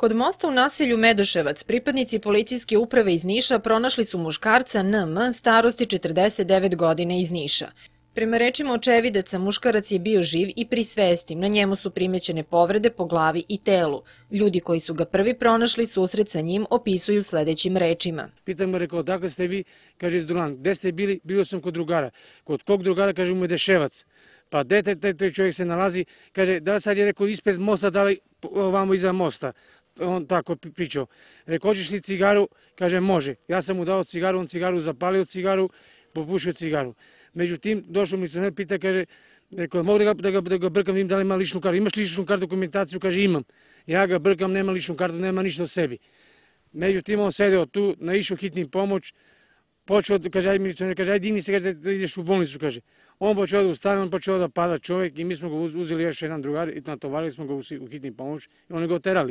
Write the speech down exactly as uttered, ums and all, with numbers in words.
Kod mosta u naselju Medoševac pripadnici policijske uprave iz Niša pronašli su muškarca N M starosti četrdeset devet godina iz Niša. Prema rečima očevidaca, muškarac je bio živ i pri svesti, na njemu su primećene povrede po glavi i telu. Ljudi koji su ga prvi pronašli susret sa njim opisuju sledećim rečima. Pitam mu, rekao, dakle ste vi, kaže iz Dulan, gde ste bili? Bio sam kod drugara. Kod kog drugara, kaže, u Medeševac. Pa gde taj čovjek se nalazi, kaže, da sad je rekao ispred mosta, da li ovamo iza mosta. On tako pričao. Rekao, hoćeš li cigaru? Kaže, može. Ja sam mu dao cigaru, on cigaru zapalio cigaru, popušio cigaru. Međutim, došao milicioner, pita, kaže, rekao, mogu da ga, da ga, da ga brkam, vidim da li ima ličnu kartu. Imaš ličnu kartu, dokumentaciju? Kaže, imam. Ja ga brkam, nema ličnu kartu, nema ništa o sebi. Međutim, on sedeo tu, naišao hitni pomoć, počeo, kaže, aj milicioner, kaže, aj digni se, kaže, da ideš u bolnicu, kaže. On počeo da ustane, on počeo da pada čovjek i mi smo ga uzeli još jedan drugar i natovarili smo ga u hitni pomoć i oni ga oterali.